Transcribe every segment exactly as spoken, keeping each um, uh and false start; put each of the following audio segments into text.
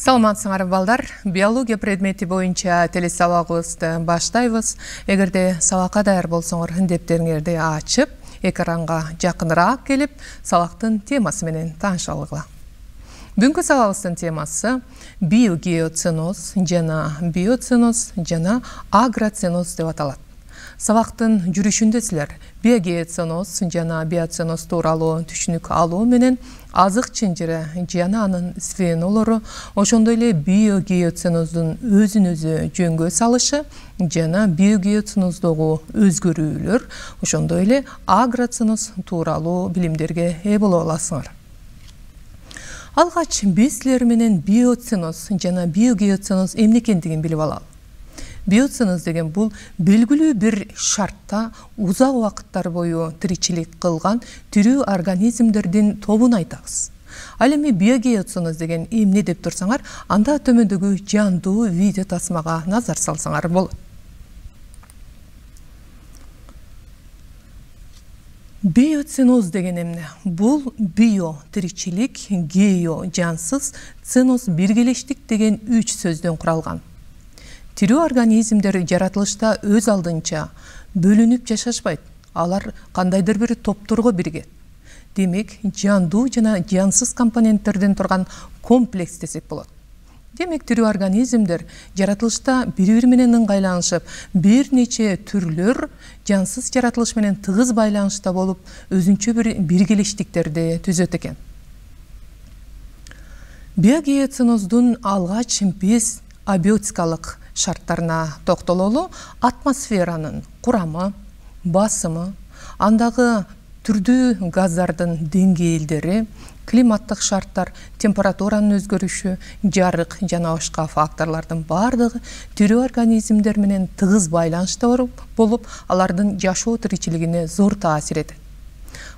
Саламатсыңар балдар, биология предмети боюнча телесабагыбызды баштайбыз. Эгерде сабакка даяр болсоңор, дептериңерди ачып, экранга жакыныраак келип, сабактын темасы менен таанышып алгыла. Бүгүнкү сабагыбыздын темасы биогеоценоз жана биоценоз жана агроценоз деп аталат. Сабактын жүрүшүндө силер биогеоценоз жана биоценоз тууралуу түшүнүк алуу менен азык чынжыры жана анын звенолору, ошондой эле биогеоценоздун өзүн өзү жөнгө салышы жана биогеоценоздогу өзгөрүүлөр, ошондой эле агроценоз тууралуу билимдерге ээ боло аласыңар. Алгач биз силер менен биоценоз жана биогеоценоз эмне экендигин билип алалы. Биоценоз деген бул белгилүү бир шартта узак убакыттар бою тиричилик кылган тирүү организмдердин тобун айтабыз. Ал эми биогеоценоз деген эмне деп турсаңар, анда төмөндөгү жандуу видео тасмага назар салсаңар болот. Биоценоз деген эмне? Бул био тиричилик, гео жансыз, ценоз биргелештик деген үч сөздөн куралган. Тирүү организмдер жаратылышта өз алдынча бөлүнүп жашашпайт. Алар кандайдыр бир топторго биригет. Демек, жандуу жана жансыз компоненттерден турган комплекс десек болот. Демек, тирүү организмдер жаратылышта бири-бири менен ыңгайланышып, бир нече түрлөр жансыз жаратылыш менен тыгыз байланышта болуп, өзүнчө бир биргелештиктерди түзөт экен. Биогеоценоздун алгач биз абиотикалык шарттарына токтололу. Атмосферанын курамы, басымы, андагы түрдүү газдардын деңгээлдери, климаттык шарттар, температуранын өзгөрүшү, жарык жана башка факторлордун бардыгы тирүү организмдер менен тыгыз байланышта болуп, алардын жашоо тиричилигине зор таасир этет.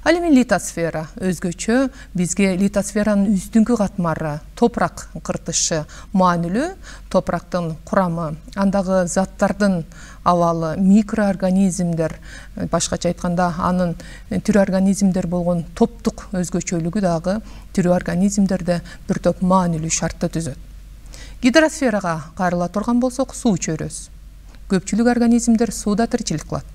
Ал эми литосфера өзгөчө бизге литосферанын үстүңкү катмары, топурак кыртышы маанилүү. Топурактын курамы, андагы заттардын абалы, микроорганизмдер, башкача айтканда анын тирүү организмдер болгон топтук өзгөчөлүгү дагы тирүү организмдерде бир топ маанилүү шартты түзөт. Гидросферага кайрыла турган болсок, суу чөйрөсү. Көпчүлүк организмдер сууда тиричилик кылат.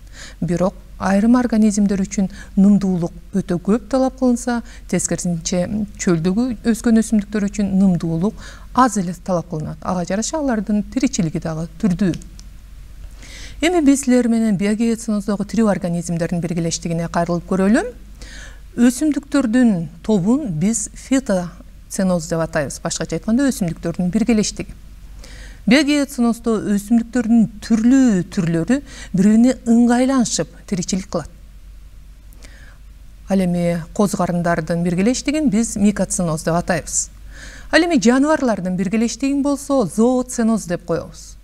Бирок айрым организмдер үчүн нымдуулук өтө көп талап кылынса, тескерисинче чөлдөгү өскөн өсүмдүктөр үчүн нымдуулук аз эле талап кылынат. Ага жараша алардын тиричилиги дагы түрдүү. Эми биз силер менен биогеоценоздогу тирүү организмдердин биргелештигине кайрылып көрөлү. Өсүмдүктөрдүн тобун биз фитоценоз деп атайбыз. Башкача айтканда өсүмдүктөрдүн биргелештиги. Биогеоценоздо өсүмдүктөрдүн түрлүү түрлөрү бири-бирине ыңгайланышып тиричилик кылат. Ал эми коз карындардын биргелештигин биз микоценоз деп атайбыз. Ал эми жаныбарлардын биргелештигин болсо зооценоз деп коебуз.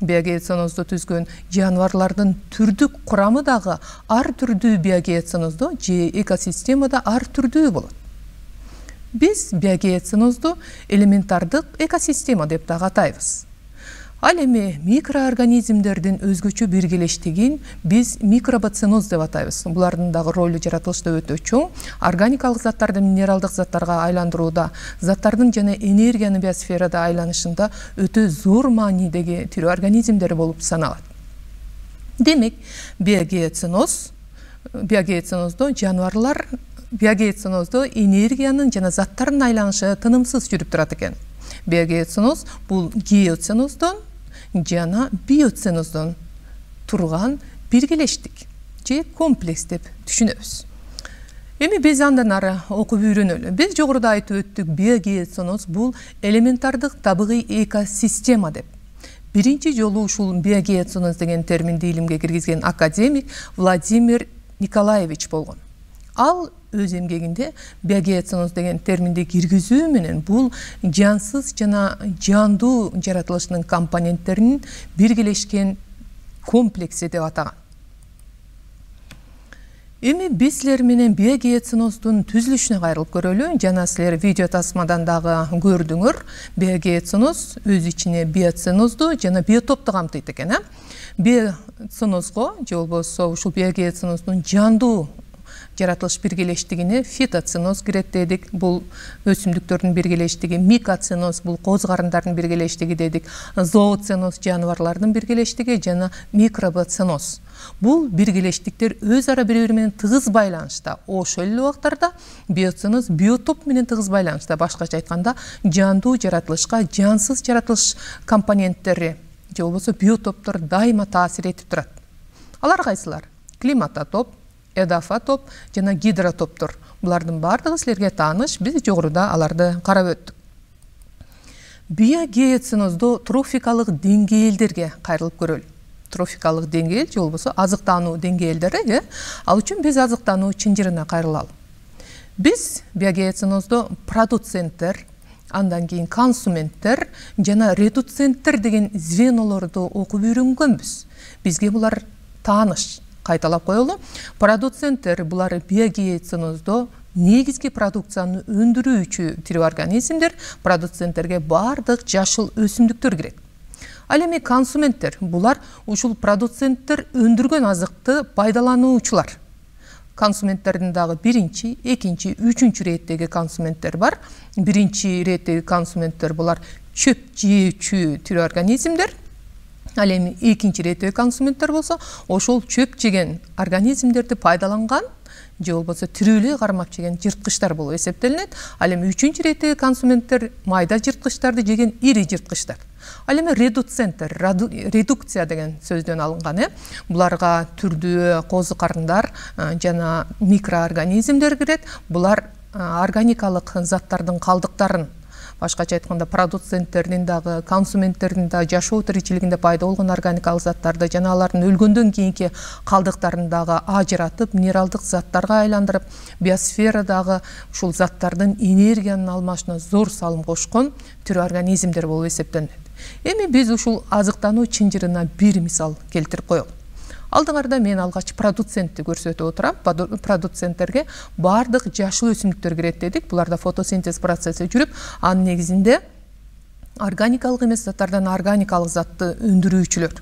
Биогеоценозду түзгөн жаныбарлардын түрдүк курамы дагы ар түрдүү биогеоценоздо же экосистемада ар түрдүү болот. Биз биогеоценозду элементардык экосистема деп дагы атайбыз. Ал эми микроорганизмдердин өзгөчө биргелештигин биз микробоценоз деп атайбыз. Булардын дагы ролу жаратылышта өтө чоң. Органикалык заттарды минералдык заттарга айландырууда, заттардын жана энергиянын биосферада айланышында өтө зор маанидеги тирүү организмдер болуп саналат. Демек, биогеоценоз, биогеоценоздо жаныбарлар биогеоценоздо энергиянын жана заттардын айланышы тынымсыз жүрүп турат экен. Биогеоценоз бул геоценоздон жана биоценоздон турган биргелештик же комплекс деп түшүнөбүз. Эми биз андан ары окуп үйрөнөлү. Биз жогоруда айтып өттүк, биогеоценоз бул элементардык табигый экосистема деп. Биринчи жолу ушул биогеоценоз деген терминди илимге киргизген академик Владимир Николаевич болгон. Ал өз эмгегинде биогеоценоз деген терминди киргизүү менен бул жансыз жана жандуу жаратылышынын компоненттеринин биргелешкен комплекси деп атаган. Эми биз силер менен биогеоценоздун түзүлүшүнө кайрылып көрөлү. Жана силер видео тасмадан дагы көрдүңөр. Биогеоценоз өз ичине биоценозду жана биотопту камтыйт экен. Биоценозго же болбосо ушул биогеоценоздун жандуу жаратылыш биргелештигине фитоценоз кирет дедик. Бул өсүмдүктөрдүн биргелештиги, микоценоз бул коз карындардын биргелештиги дедик. Зооценоз жаныбарлардын биргелештиги жана микробоценоз. Бул биргелештиктер өз ара бири-бири менен тыгыз байланышта. Ошол эле убактарда биоценоз биотоп менен тыгыз байланышта. Башкача айтканда, жандуу жаратылышка жансыз жаратылыш компоненттери же болбосо биотоптор дайыма таасир этип турат. Алар кайсылар? Климатотоп, эдафотоп жана гидротоптор. Булардын бардыгы силерге тааныш. Биз жогоруда аларды карап өттүк. Биогеоценоздо трофикалык деңгээлдерге кайрылып көрөлү. Трофикалык деңгээл же болбосо азыктануу деңгээлдери, э? Ал үчүн биз азыктануу чынжырына кайрылалы. Биз биогеоценоздо продуценттер, андан кийин консументтер жана редуценттер деген звенолорду окуп үйрөнгөнбүз. Бизге булар тааныш. Кайталап коелу. Продуценттер булар биогеоценоздо негизги продукцияны өндүрүүчү тирүү организмдер. Продуценттерге бардык жашыл өсүмдүктөр кирет. Ал эми консументтер булар ушул продуценттер өндүргөн азыкты пайдалануучулар. Консументтердин дагы биринчи, экинчи, үчүнчү иреттеги консументтер бар. Биринчи иреттеги консументтер булар чөп жөөчү тирүү организмдер. Ал эми экинчи иреттеги консументтер болсо, ошол чөп жеген организмдерди пайдаланган же болбосо тирүүлүгү кармап жеген жырткычтар болуп эсептелинет. Ал эми үчүнчү иреттеги консументтер майда жырткычтарды жеген ири жырткычтар. Ал эми редуценттер, редукция деген сөздөн алынган, э? Буларга түрдүү козу карындар жана микроорганизмдер кирет. Булар органикалык заттардын калдыктарын, башкача айтканда продуценттердин дагы, консументтердин да жашоо тиричилигинде пайда болгон органикалык заттарды жана алардын өлгөндөн кийинки калдыктарын дагы ажыратып, минералдык заттарга айландырып, биосферадагы ушул заттардын энергиянын алмашына зор салым кошкон тирүү организмдер болуп эсептелет. Эми биз ушул азыктануу чынжырына бир мисал келтирип коелу. Алдыңарда мен алгач продуцентти көрсөтүп отурам. Продуценттерге бардык жашыл өсүмдүктөр кирет дедик. Буларда фотосинтез процесси жүрүп, анын негизинде органикалык эмес заттардан органикалык затты өндүрүүчүлөр.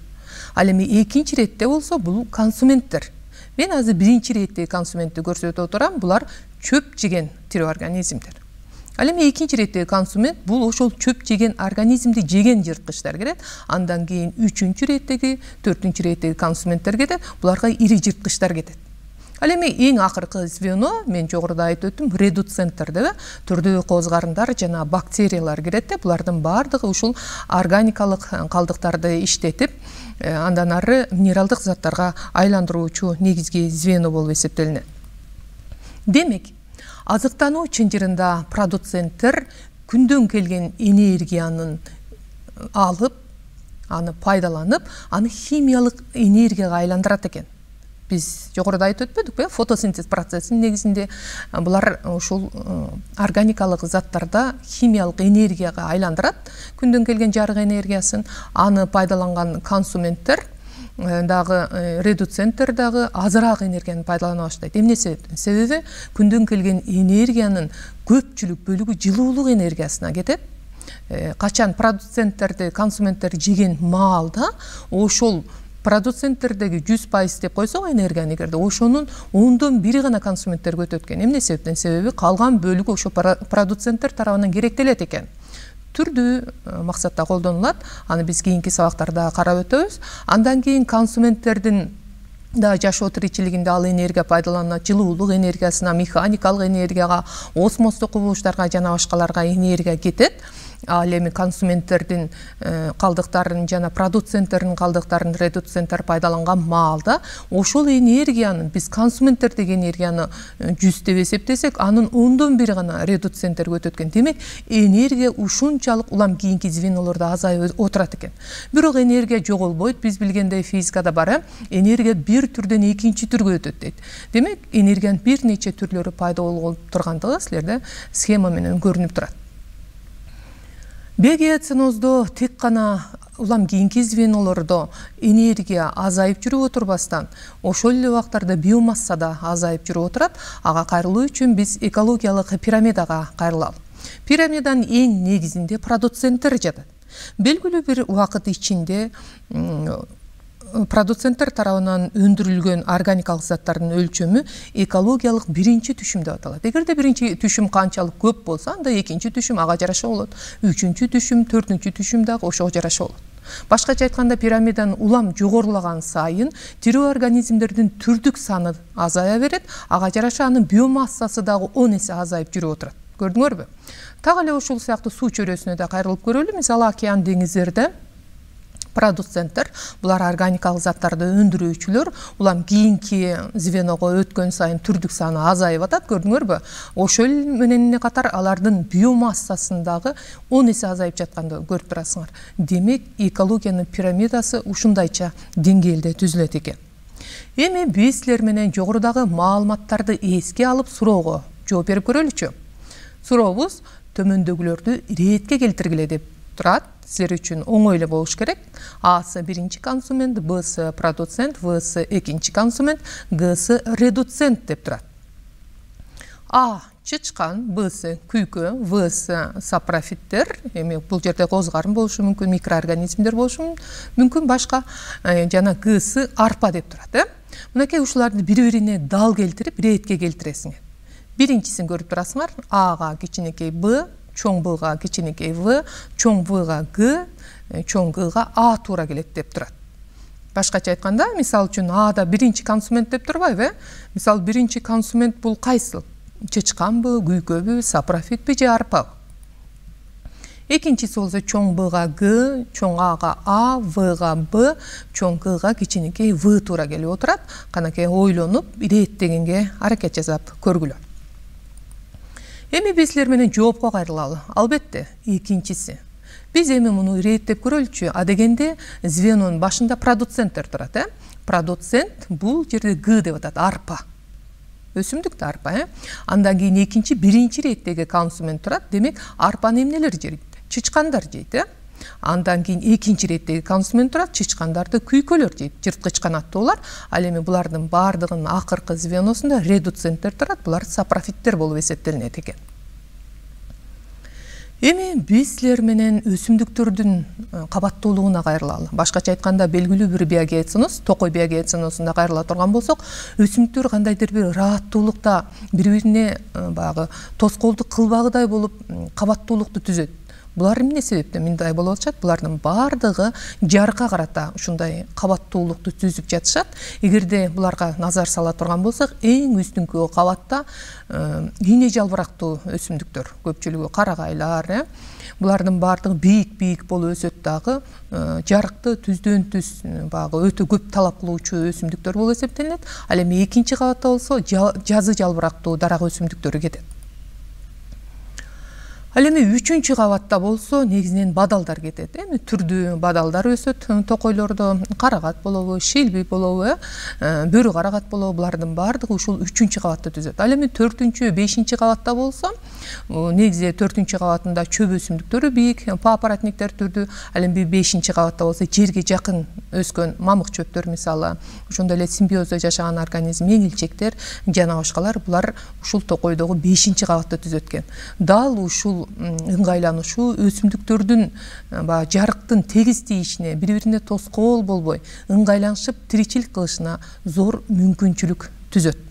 Ал эми экинчи иретте болсо бул консументтер. Мен азыр биринчи иретте консументти көрсөтүп отурам. Булар чөп жеген тирүү организмдер. Ал эми экинчи иретте консумент бул ошол чөп жеген организмди жеген жырткычтар кирет. Андан кийин үчүнчү иреттеги, төртүнчү иреттеги консументтер кетет. Буларга ири жырткычтар кетет. Ал эми эң акыркы звено, мен жогоруда айтып өттүм, редуценттер деп, түрдүү коз карындар жана бактериялар кирет. Булардын бардыгы ушул органикалык калдыктарды иштетип, андан ары минералдык заттарга айландыруучу негизги звено болуп эсептелинет. Демек, азыктануу чынжырында продуценттер күндөн келген энергиянын алып, аны пайдаланып, аны химиялык энергияга айландырат экен. Биз жогоруда айтып өтпөдүкпү? Фотосинтез процессинин негизинде булар ушул органикалык заттарда химиялык энергияга айландырат, күндөн келген жарык энергиясын. Аны пайдаланган консументтер дагы, редуценттер дагы азыраак энергияны пайдалана баштайт. Эмнеси? Себеби күндөн келген энергиянын көпчүлүк бөлүгү жылуулук энергиясына кетет. Качан продуценттерди, консументтер жеген маалда ошол продуценттердеги жүз пайыз деп койсок энергияны эгерде, ошонун ондон бири гана консументтерге өтөт экен. Эмне себептен? Себеби калган бөлүгү ошо продуценттер тарабынан керектелет экен. Түрдүү максатта колдонулат. Аны биз кийинки сабактарда карап өтөбүз. Андан кийин консументтердин да жашоо тиричилигинде ал энергия пайдаланылат. Жылуулук энергиясына, механикалык энергияга, осмостук кубулуштарга жана башкаларга энергия кетет. Ал эми консументтердин калдыктарын жана продуценттердин калдыктарын редуценттер пайдаланган маалда ошол энергиянын, биз консументтердеги энергияны жүз деп эсептесек, анын ондон бири гана редуценттерге өтөт экен. Демек, энергия ушунчалык улам кийинки звенолордо азайып отурат экен. Бирок энергия жоголбойт. Биз билгендей физикада бар, энергия бир түрдөн экинчи түргө өтөт дейт. Демек, энергиянын бир нече түрлөрү пайда болуп тургандыгы силерде схема менен көрүнүп турат. Биогеоценоздо тек гана улам кийинки звенолордо энергия азайып жүрүп отурбастан, ошол эле убактарда биомасса да азайып жүрүп отурат. Ага кайрылуу үчүн биз экологиялык пирамидага кайрылалы. Пирамиданын эң негизинде продуценттер жатат. Белгилүү бир убакыт ичинде продуценттер тарабынан өндүрүлгөн органикалык заттардын өлчөмү экологиялык биринчи түшүм деп аталат. Эгерде биринчи түшүм канчалык көп болсо, анда экинчи түшүм ага жараша болот. Үчүнчү түшүм, төртүнчү түшүм дагы ошого жараша болот. Башкача айтканда, пирамиданын улам жогорулаган сайын тирүү организмдердин түрдүк саны азая берет, ага жараша анын биомассасы дагы он эсе азайып жүрүп отурат. Көрдүңөрбү? Так эле ушул сыяктуу суу чөйрөсүнө да кайрылып көрөлү. Мисалы, океан, деңиздерде продуценттер, булар органикалык заттарды өндүрүүчүлөр, улам кийинки звеного өткөн сайын түрдүк саны азайып атат, көрдүңөрбү? Ошол менен катар алардын биомассасындагы он эсе азайып жатканды көрүп турасыңар. Демек, экологиянын пирамидасы ушундайча деңгээлде түзүлөт экен. Эми биз силер менен жогорудагы маалыматтарды эске алып суроого жооп берип көрөлүчү. Сурообуз төмөндөгүлөрдү иретке келтиргиле деп турат. Силер үчүн оңой эле болуш керек. Асы биринчи консумент, Бсы продуцент, Всы экинчи консумент, Гсы редуцент деп турат. А чычкан, Бсы күйкө, Всы сапрофиттер, эми бул жерде козгарым болушу мүмкүн, микроорганизмдер болушу мүмкүн, башка жана Гсы арпа деп турат, э? Мынакей ушуларды бири-бирине дал келтирип, иретке келтиресиңер. Биринчисин көрүп турасыңар. Ага кичинекей Б, чоң Бга кичинекей В, чоң Вга Г, чоң Гга А туура келет деп турат. Башкача айтканда, мисал үчүн Ада биринчи консумент деп турбайбы? Мисал, биринчи консумент бул кайсыл? Чычканбы, күйкөбү, сапрофитпи же арпабы? Экинчиси болсо чоң Бга Г, чоң Ага А, Вга Б, чоң Гга кичинекей В туура келип отурат. Канакей ойлонуп, иреттегенге аракет жасап көргүлө. Эми биз силер менен жоопко кайрылалы. Албетте, экинчиси. Биз эми муну иреттеп көрөлүчү. А дегенде звенонун башында продуценттер турат, э? Продуцент бул жерде Г деп атат, арпа. Өсүмдүктө арпа, э? Андан кийин экинчи, биринчи иреттеги консумент турат. Демек, арпаны эмнелер жейт? Чычкандар жейт, э? Андан кийин экинчи иреттеги консумент турат, чычкандарды күйкөлөр жейт, жырткыч канаттуулар. Ал эми булардын бардыгынын акыркы звеносунда редуценттер турат, булар сапрофиттер болуп эсептелинет экен. Эми биз силер менен өсүмдүктөрдүн кабаттуулугуна кайрылалы. Башкача айтканда, белгилүү бир биогеоценоз, токой биогеоценозунда кайрыла турган болсок, өсүмдүктөр кандайдыр бир ырааттуулукта бири-бирине баягы тоскоолдук кылбагыдай болуп кабаттуулукту түзөт. Булар эмне себептен мындай болуп атышат? Булардын бардыгы жарыкка карата ушундай кабаттуулукту түзүп жатышат. Эгерде буларга назар сала турган болсок, эң үстүнкү кабатта ийне жалбырактуу өсүмдүктөр, көпчүлүгү карагайлар, э? Булардын бардыгы бийик-бийик болуп өсөт дагы, жарыкты түздөн түз багы өтө көп талап кылуучу өсүмдүктөр болуп эсептелинет. Ал эми экинчи кабатта болсо жазы жалбырактуу дарак өсүмдүктөрү кетет. Ал эми үчүнчү кабатта болсо негизинен бадалдар кетет. Эми түрдүү бадалдар өсөт токойлордо, карагат болобу, шилби болобу, бөрү карагат болобу, булардын бардыгы ушул үчүнчү кабатты түзөт. Ал эми төртүнчү, бешинчи кабатта болсо, негизи төртүнчү кабатында чөп өсүмдүктөрү бийик, папоротниктер түрдүү. Ал эми бешинчи кабатта болсо жерге жакын өскөн мамык чөптөр, мисалы, ошондой эле симбиоздо жашаган организм, меңилчектер жана башкалар, булар ушул токойдогу бешинчи кабатты түзөт экен. Дал ушул ыңгайланышуу өсүмдүктөрдүн баягы жарыктын тегиз тийишине, бири-бирине тоскоол болбой, ыңгайланышып тиричилик кылышына зор мүмкүнчүлүк түзөт.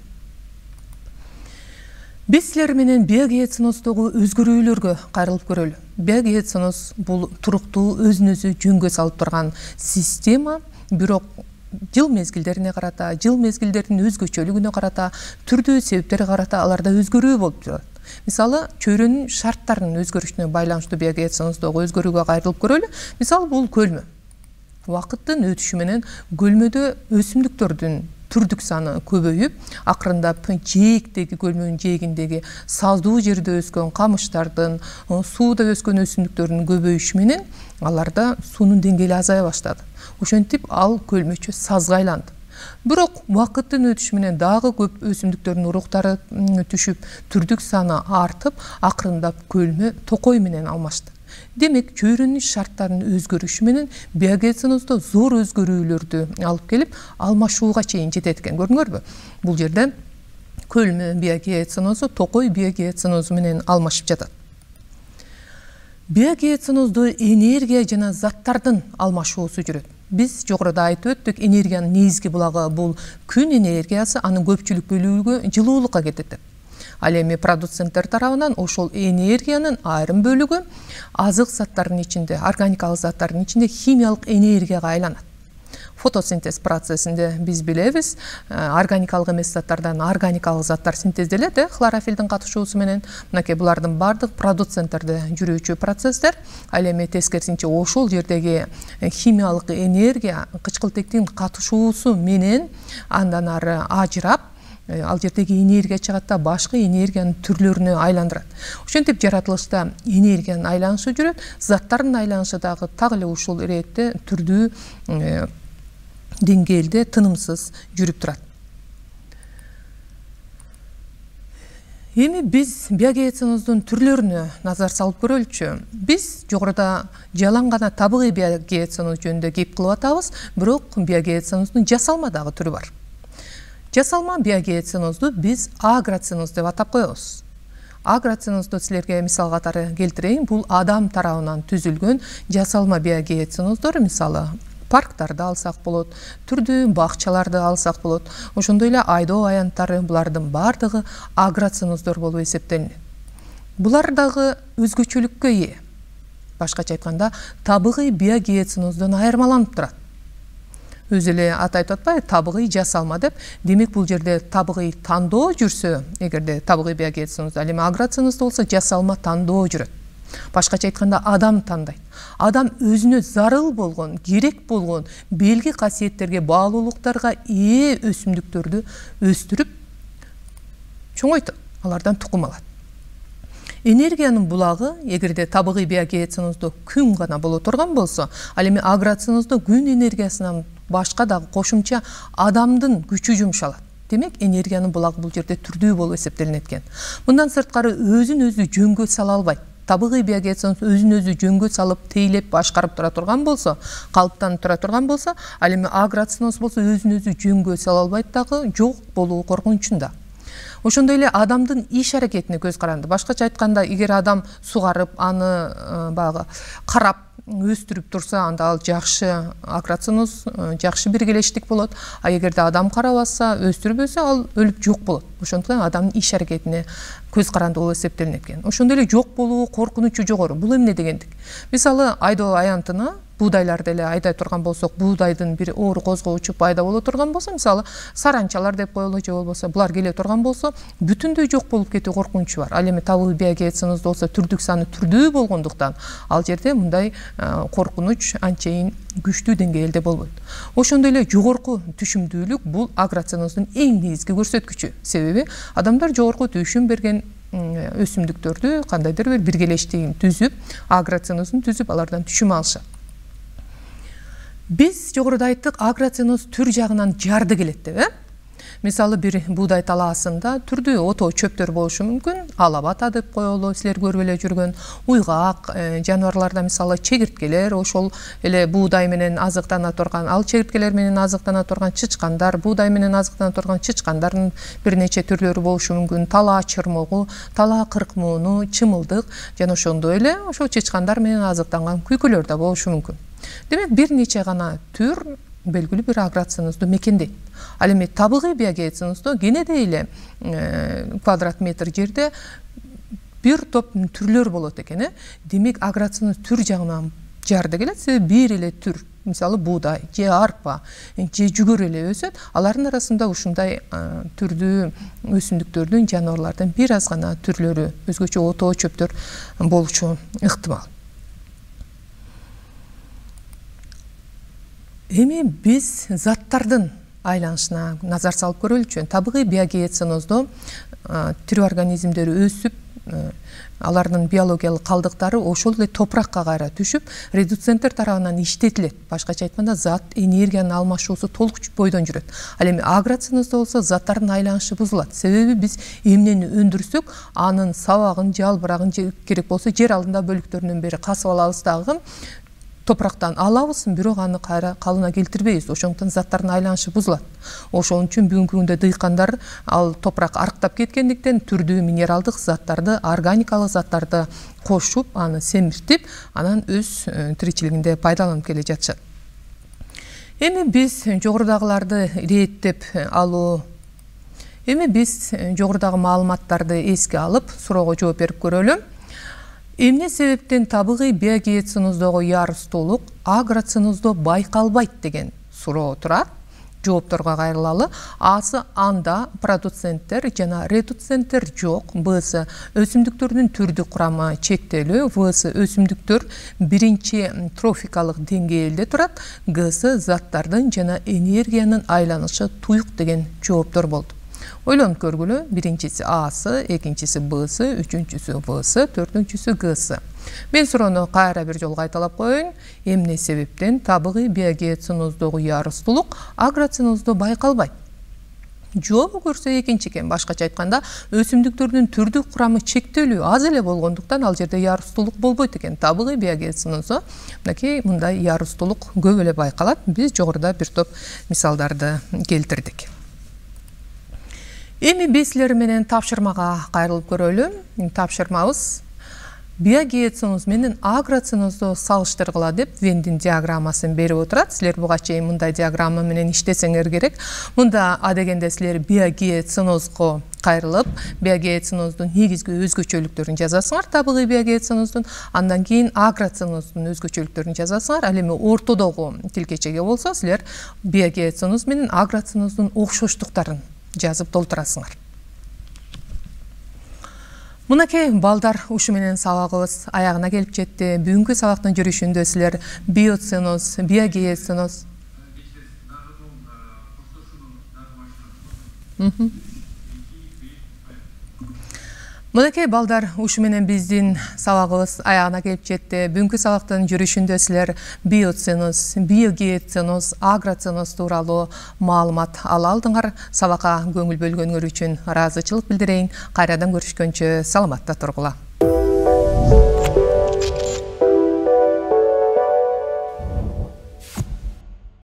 Биз силер менен биогеоценоздогу өзгөрүүлөргө кайрылып көрөлү. Биогеоценоз бул туруктуу, өзүн өзү жөнгө салып турган система, бирок жыл мезгилдерине карата, жыл мезгилдердин өзгөчөлүгүнө карата, түрдүү себептерге карата аларда өзгөрүү болуп турат. Мисалы, чөйрөнүн шарттарынын өзгөрүшүнө байланыштуу биогеоценоздогу өзгөрүүгө кайрылып көрөлү. Мисалы, бул көлмө. Убакыттын өтүшү менен көлмөдө өсүмдүктөрдүн түрдүк саны көбөйүп, акырындап жээктеги, көлмөнүн жээгиндеги саздуу жерде өскөн камыштардын, сууда өскөн өсүмдүктөрдүн көбөйүшү менен аларда суунун деңгээли азая баштады. Ошентип ал көлмөчө сазга айланды. Бирок убакыттын өтүшү менен дагы көп өсүмдүктөрдүн уруктары түшүп, түрдүк саны артып, акырындап көлмө токой менен алмашты. Демек, чөйрөнүн шарттарынын өзгөрүшү менен биогеоценоздо зор өзгөрүүлөрдү алып келип, алмашууга чейин жетет экен. Көрдүңөрбү? Бул жерде көлмө биогеоценозу токой биогеоценозу менен алмашып жатат. Биогеоценоздо энергия жана заттардын алмашуусу жүрөт. Биз жогоруда айтып өттүк, энергиянын негизги булагы бул күн энергиясы, анын көпчүлүк бөлүгү жылуулукка кетет. Ал эми продуценттер тарабынан ошол энергиянын айрым бөлүгү азык заттардын ичинде, органикалык заттардын ичинде химиялык энергияга айланат. Фотосинтез процессинде биз билебиз, органикалык эмес заттардан органикалык заттар синтезделет, э, хлорофилдин катышуусу менен. Мынакей булардын бардык продуценттерде жүрүүчү процесстер. Ал эми тескерисинче ошол жердеги химиялык энергия кычкылтектин катышуусу менен андан ары ажырап, ал жердеги энергия чыгат да башка энергиянын түрлөрүнө айландырат. Ошентип жаратылышта энергиянын айланышы жүрөт, заттардын айланышы дагы так эле ушул иретте түрдүү деңгээлде тынымсыз жүрүп турат. Эми биз биогеоценоздун түрлөрүнө назар салып көрөлүчү. Биз жогоруда жалаң гана табигый биогеоценоз жөнүндө кеп кылып атабыз, бирок биогеоценоздун жасалма дагы түрү бар. Жасалма биогеоценозду биз агроценоз деп атап коебуз. Агроценозду силерге мисал катары келтирейин. Бул адам тарабынан түзүлгөн жасалма биогеоценоздор, мисалы парктарды алсак болот, түрдүү бакчаларды алсак болот. Ошондой эле айдоо аянттары, булардын бардыгы агроценоздор болуп эсептелинет. Булар дагы өзгөчөлүккө ээ. Башкача айтканда, табигый биогеоценоздон айырмаланып турат. Өзү эле аты айтып атпайбы, табигый жасалма деп. Демек бул жерде табигый тандоо жүрсө, эгерде табигый биогеоценоз, ал эми агроценоздо болсо жасалма тандоо жүрөт. Башкача айтканда, адам тандайт. Адам өзүнө зарыл болгон, керек болгон белги касиеттерге, баалуулуктарга ээ өсүмдүктөрдү өстүрүп чоңойтот, алардан тукум алат. Энергиянын булагы, эгерде табигый биогеоценоздо күн гана боло турган болсо, ал эми агроценоздо күн энергиясынан башка дагы кошумча адамдын күчү жумшалат. Демек, энергиянын булагы бул жерде түрдүү болуп эсептелинет экен. Мындан сырткары өзүн өзү жөнгө сала албайт. Табигый биогеоценоз өзүн өзү жөнгө салып, тейлеп, башкарып тура турган болсо, калыптанып тура турган болсо, ал эми агроценоз болсо өзүн өзү жөнгө сала албайт дагы, жок болуу коркунучунда. Ошондой эле адамдын иш аракетине көз каранды. Башкача айтканда, эгер адам сугарып, аны багы карап өстүрүп турса, анда ал жакшы агроценоз, жакшы биргелештик болот. А эгерде адам карабаса, өстүрбөсө, ал өлүп жок болот. Ошондуктан адамдын иш аракетине көз каранды болуп эсептелинет экен. Ошондой эле жок болуу коркунучу жогору. Бул эмне дегендик? Мисалы, айдоо аянтына буудайларды эле айдай турган болсок, буудайдын бир оор козгоочу пайда боло турган болсо, мисалы, саранчалар деп коелу, же болбосо булар келе турган болсо, бүтүндөй жок болуп кетүү коркунучу бар. Ал эми табигый биогеоценоздо болсо түрдүк саны түрдүү болгондуктан, ал жерде мындай коркунуч анчейин күчтүү деңгээлде болбойт. Ошондой эле жогорку түшүмдүүлүк бул агроценоздун эң негизги көрсөткүчү. Себеби адамдар жогорку түшүм берген өсүмдүктөрдү кандайдыр бир биргелештигин түзүп, агроценоздун түзүп, алардан түшүм алышат. Биз жогоруда айттык, агроценоз түр жагынан жарды келет деп, э? Мисалы, бир буудай талаасында түрдүү ото чөптөр болушу мүмкүн. Алабата деп коелу, силер көрүп эле жүргөн уйгак, жаныбарларда мисалы чегирткелер, ошол эле буудай менен азыктана турган, ал чегирткелер менен азыктана турган чычкандар, буудай менен азыктана турган чычкандардын бир нече түрлөрү болушу мүмкүн. Талаа чырмогу, талаа кыркмууну, чымылдык жана ошондой эле ошол чычкандар менен азыктанган күйкөлөр да болушу мүмкүн. Демек, бир нече гана түр белгилүү бир агроценозду мекендейт. Ал эми табигый биогеоценоздо кенедей эле квадрат метр жерде бир топ түрлөр болот экен, э? Демек, агроценоз түр жагынан жарды келет, себеби бир эле түр, мисалы буудай, же арпа, же жүгөр эле өсөт. Алардын арасында ушундай түрдүү өсүмдүктөрдүн, жаныбарлардын бир аз гана түрлөрү, өзгөчө ото чөптөр болушу ыктымал. Эми биз заттардын айланышына назар салып көрөлүчү. Табигый биогеоценоздо тирүү организмдер өсүп, алардын биологиялык калдыктары ошол эле топуракка кайра түшүп, редуценттер тарабынан иштетилет. Башкача айтканда, зат энергиянын алмашуусу толук бойдон жүрөт. Ал эми агроценоздо болсо заттардын айланышы бузулат. Себеби биз эмнени өндүрсөк, анын сабагын, жалбырагын керек болсо жер алдында бөлүктөрүнөн бери касып алабыз дагы, топурактан алабыз, бирок аны кайра калына келтирбейбиз. Ошондуктан заттардын айланышы бузулат. Ошон үчүн бүгүнкү күндө дыйкандар ал топурак арыктап кеткендиктен түрдүү минералдык заттарды, органикалык заттарды кошуп, аны семиртип, анан өз тиричилигинде пайдаланып келе жатышат. Эми биз жогорудагыларды иреттеп алуу Эми биз жогорудагы маалыматтарды эске алып, суроого жооп берип көрөлү. Эмне себептен табигый биогеоценуздогу ярыстуулук агроценузда байкалбайт деген суроо турат. Жоопторго кайрылалы. Асы анда продуценттер жана редуценттер жок. Бсы өсүмдүктөрдүн түрдүк курамы чектелүү. Всы өсүмдүктөр биринчи трофикалык деңгээлде турат. Гсы заттардын жана энергиянын айланышы туюк деген жооптор болду. Ойлонуп көргүлө. Биринчиси Асы, экинчиси Бсы, үчүнчүсү Всы, төртүнчүсү Гсы. Мен суроону кайра бир жолу кайталап коеюн. Эмне себептен табигый биогеоценуздогу ярыстуулук агроценузда байкалбайт? Жообу көрсө экинчи экен. Башкача айтканда, өсүмдүктөрдүн түрдүк курамы чектелүү аз эле болгондуктан ал жерде ярыстуулук болбойт экен. Табигый биогеоценузда мынакей мындай ярыстуулук көп эле байкалат. Биз жогоруда бир топ мисалдарды келтирдик. Эми биз силер менен тапшырмага кайрылып көрөлү. Тапшырмабыз биогеоценуз менен агроценузду салыштыргыла деп Вендин диаграммасын берип отурат. Силер буга чейин мындай диаграмма менен иштесеңер керек. Мында адегенде силер биогеоценузго кайрылып, биогеоценуздун негизги өзгөчөлүктөрүн жазасыңар, табигый биогеоценуздун, андан кийин агроценуздун өзгөчөлүктөрүн жазасыңар. Ал эми ортодогу тилкечеге болсо, силер биогеоценуз менен агроценуздун окшоштуктарын жазып толтурасыңар. Мынакей балдар, ушу менен сабагыбыз аягына келип жетти. Бүгүнкү сабактын жүрүшүндө силер биоценоз, биогеоценоз Мынакей балдар, ушу менен биздин сабагыбыз аягына келип жетти. Бүгүнкү сабактын жүрүшүндө силер биоценоз, биогеоценоз, агроценоз тууралуу маалымат ала алдыңар. Сабакка көңүл бөлгөнүңөр үчүн ыраазычылык билдирейин. Кайрадан көрүшкөнчө саламатта тургула.